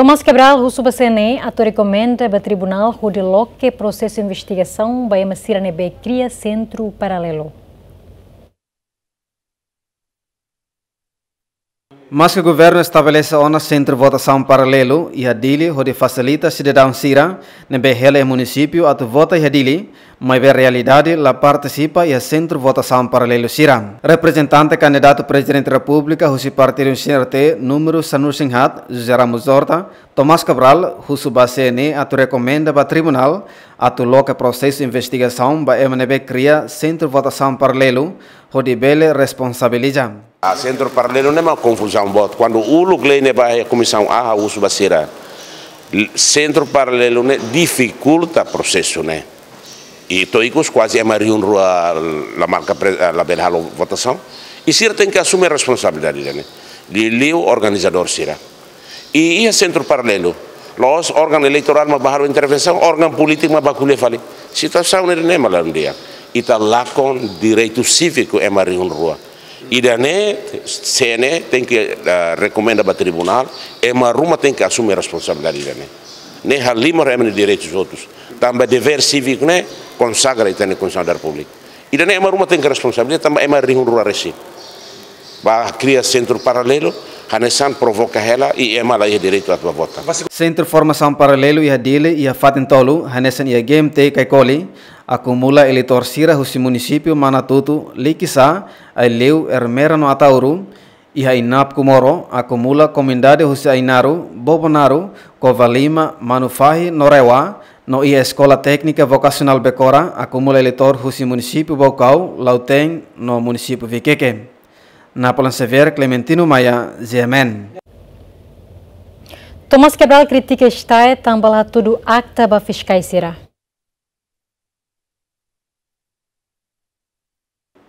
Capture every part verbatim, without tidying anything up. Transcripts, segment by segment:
Tomás Cabral husu ba C N E atu rekomenda ba tribunál hodi loke prosesu investigasaun ba ema sira ne'ebé kria sentru paralelu. Maske governu estabelese ona sentru votasaun paralelu iha Dili hodi fasilita sidadaun sira ne'ebé hela iha munisípiu atu vota iha Dili, maibé realidade la partisipa iha sentru votasaun paralelu sira. Reprezentante kandidatu Prezidente Repúblika husi partidu C N R T númeru sanulu-resin-haat, José Ramos Horta, Tomás Cabral, husu ba C N E atu rekomenda ba tribunál atu loke prosesu investigasaun ba ema ne'ebé kria sentru votasaun paralelu hodi bele responsabiliza. A sentru paralelu ne'e mak konfuzaun boot. Kuandu uluk lei ne'e ba iha Komisaun A, husu ba sira, sentru paralelu ne'e difikulta prosesu ne'e. I to'o ikus kuaze ema rihun rua la marka pre-, la bele halo votasaun. I sira tenke asume responsabilidade ne'e. Liuliu organizadór sira. I iha sentru paralelu, la'ós órgaun eleitorál mak ba halo intervensaun, órgaun polítiku mak ba ko'alia fali. Situasaun ne'e mak la di'ak. Ita lakon direitu síviku ema rihun rua. Ida-ne'e C N E tenke, eh, rekomenda ba tribunál, ema ruma tenke asume responsabilidade ida-ne'e. Ne'e halimar ema nia direitus hotu. Tanba devér síviku ne'e konsagra ita-nia Konstituisaun da Repúblika. Ida-ne'e ema ruma tenke responsabiliza tanba ema rihun rua resin ba kria sentru paralelu, hanesan provoka hela i ema la iha direitu atu ba vota. Sentru formasaun paralelu iha Dili iha fatin tolu, hanesan iha G M T Caicoli, akumula eleitór sira husi munisípiu Manatuto, Likisá, Aileu, Ermera no Ataúro, iha INAP Comoro, akumula komunidade husi Ainaro, Bobonaro, Covalima, Manufahi no Rewa, no iha Eskola Téknika Vokasionál Becora, akumula eleitór husi munisípiu Baucau, Lautém no munisípiu Viqueque. Napoleão Xavier, Clementino Maia, G M N. Tomás Cabral kritika STAE tanba la hatudu akta ba fiskais sira.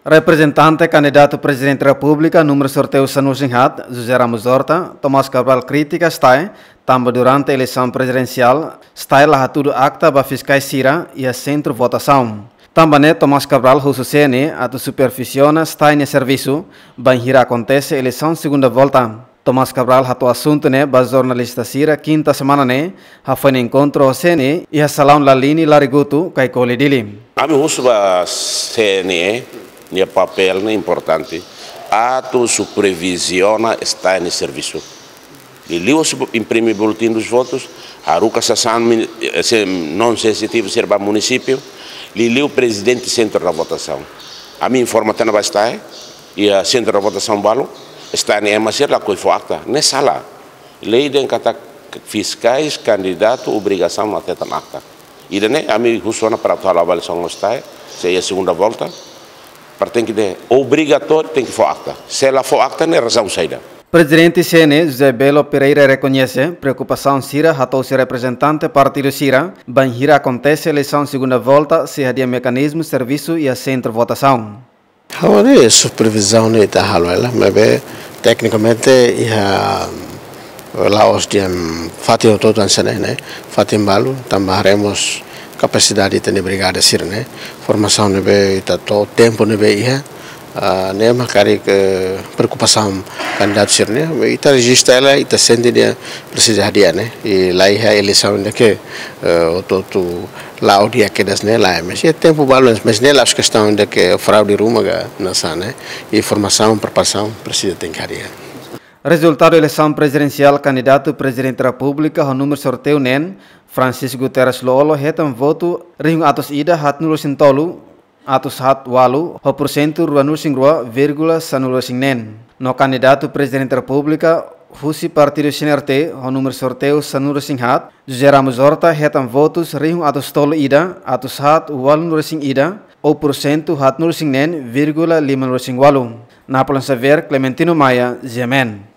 Reprezentante kandidatu Prezidente Repúblika númeru sorteiu sanulu-resin-haat, José Ramos Horta, Tomás Cabral kritika STAE tanba durante eleisaun prezidensiál, STAE la hatudu akta ba fiskais sira iha sentru votasaun. Tanba ne'e Tomás Cabral husu C N E atu supervisiona STAE nia servisu bainhira akontese eleisaun segunda volta. Tomás Cabral hato'o asuntu ne'e ba jornalista sira kinta semana ne'e, hafoin enkontru ho C N E iha salaun Lalini Larigutu, Caicoli, Dili. Ami husu ba C N E, nia papél ne'e importante, atu superviziona STAE nia servisu. Liuliu husi imprime boletim dos votos, haruka sasán min-, eh, se-, non sensitivu sira ba munisípiu, liuliu prezidente sentru da votasaun. Ami informa tiha ona ba STAE, iha sentru da votasaun balu, STAE nia ema sira lakohi fó akta. Ne'e sala. Lei dehan katak fiskais kandidatu obrigasaun atu hetan akta. Ida-ne'e ami husu ona para atu halo avaliasaun ho STAE, se iha segunda volta, para tenke de obrigatóriu tenke fó akta. Se la fó akta ne'e razaun saida? Prezidente C N E José Belo Pereira rekoñese preokupasaun sira hato'o husi reprezentante partidu sira, bainhira akontese eleisaun segunda volta, sei hadi'a mekanizmu servisu iha sentru votasaun. Ha'u haree supervizaun ne'e ita halo hela, maibé teknikamente iha la'ós dehan fatin hotu-hotu hanesan ne'e, fatin balu, tanba haree mós kapasidade ita-nia brigada sira-ne'e, formasaun ne'ebé ita to'o, tempu ne'ebé iha, ah, ne'e mak karik preokupasaun kandidatu sira-ne'e, ita rejista hela, ita sente dehan presiza hadi'a ne'e, i la iha eleisaun ida ke, eh, hotu-hotu la'o di'ak kedas ne'e lae, mas iha tempu balu, mas ne'e la'ós kestaun ida ke fraude ruma ka hanesan ne'e, i formasaun, preparasaun, presiza tenke hadi'a. Rezultadu eleisaun prezidensiál, kandidatu Prezidente Repúblika ho númeru sorteiu neen, Francisco Guterres Lú-Olo, hetan votu rihun atus ida haatnulu-resin-tolu, atus haat walu, ho porsentu ruanulu-resin-rua vírgula sanulu-resin-neen. No kandidatu Prezidente Repúblika husi partidu C N R T ho númeru sorteiu sanulu-resin-haat, José Ramos Horta, hetan votus rihun atus tolu ida, atus haat walunulu-resin-ida, ou porsentu haatnulu-resin-neen vírgula limanulu-resin-walu. Napoleão Xavier, Clementino Maia, G M N.